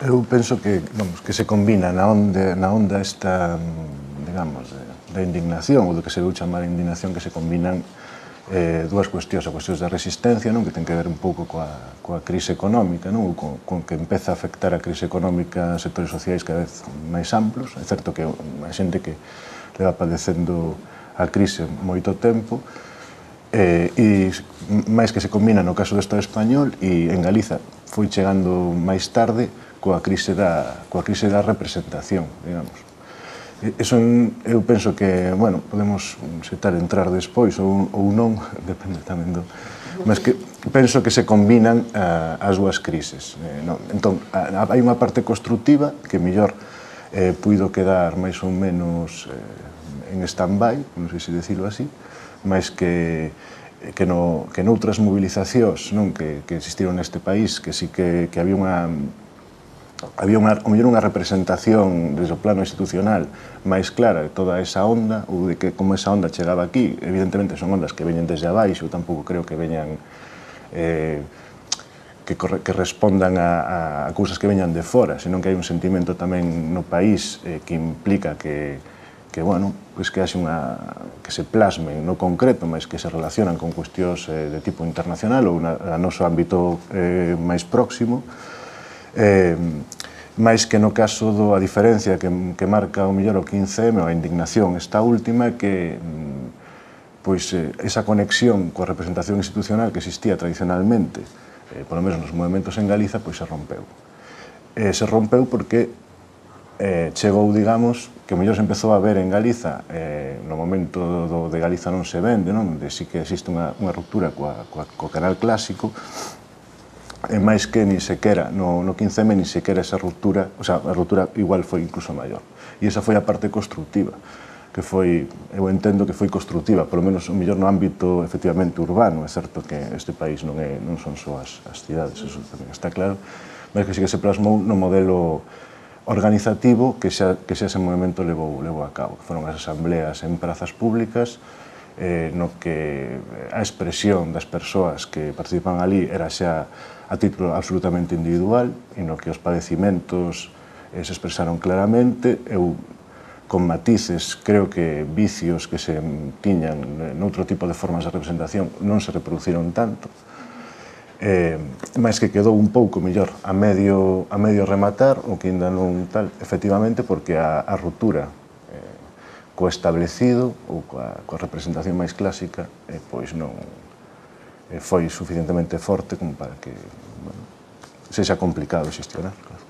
Eu penso que, vamos, que se combina na onda esta, digamos, da indignación, ou do que se deu chamar indignación, que se combinan dúas cuestións, a cuestións da resistencia, non, que ten que ver un pouco coa crise económica, non, con que empeza a afectar a crise económica a sectores sociais cada vez máis amplos. É certo que a xente que leva padecendo a crise moito tempo, e máis que se combina no caso do Estado español, e en Galiza foi chegando máis tarde coa crise da representación, digamos. Eso eu penso que, bueno, podemos entrar despois ou non, depende tamén do... Mas que penso que se combinan as dúas crises. Entón, hai unha parte constructiva que mellor puido quedar máis ou menos en stand-by, non sei se decirlo así, máis que noutras movilizacións que existiron neste país, que sí que había unha representación desde o plano institucional máis clara de toda esa onda, ou de que como esa onda chegaba aquí. Evidentemente son ondas que veñen desde abaixo, eu tampouco creo que veñan que respondan a cousas que veñan de fora, senón que hai un sentimento tamén no país que implica que bueno, que haxe que se plasmen no concreto, mas que se relacionan con cuestións de tipo internacional ou no noso ámbito máis próximo, máis que no caso a diferencia que marca o mellor o 15M, ou a indignación esta última, que esa conexión coa representación institucional que existía tradicionalmente, polo menos nos movimentos en Galiza, se rompeu. Se rompeu porque chegou, digamos, que o mellor se empezou a ver en Galiza, no momento de Galiza non se vende, onde sí que existe unha ruptura co canal clásico, e máis que ni sequera, no 15M ni sequera esa ruptura, o sea, a ruptura igual foi incluso maior. E esa foi a parte constructiva, que foi, eu entendo que foi constructiva, polo menos o mellor no ámbito efectivamente urbano. É certo que este país non son só as cidades, eso tamén está claro, mas que sí que se plasmou no modelo organizativo que xa ese movimento levou a cabo, que foron as asambleas en prazas públicas, no que a expresión das persoas que participan ali era xa a título absolutamente individual, e no que os padecimentos se expresaron claramente. Eu, con matices, creo que vicios que se tiñan noutro tipo de formas de representación non se reproduciron tanto, máis que quedou un pouco mellor a medio rematar, o que ainda non tal, efectivamente, porque a ruptura co establecido ou coa representación máis clásica pois non foi suficientemente forte como para que sexa complicado xestionar, claro.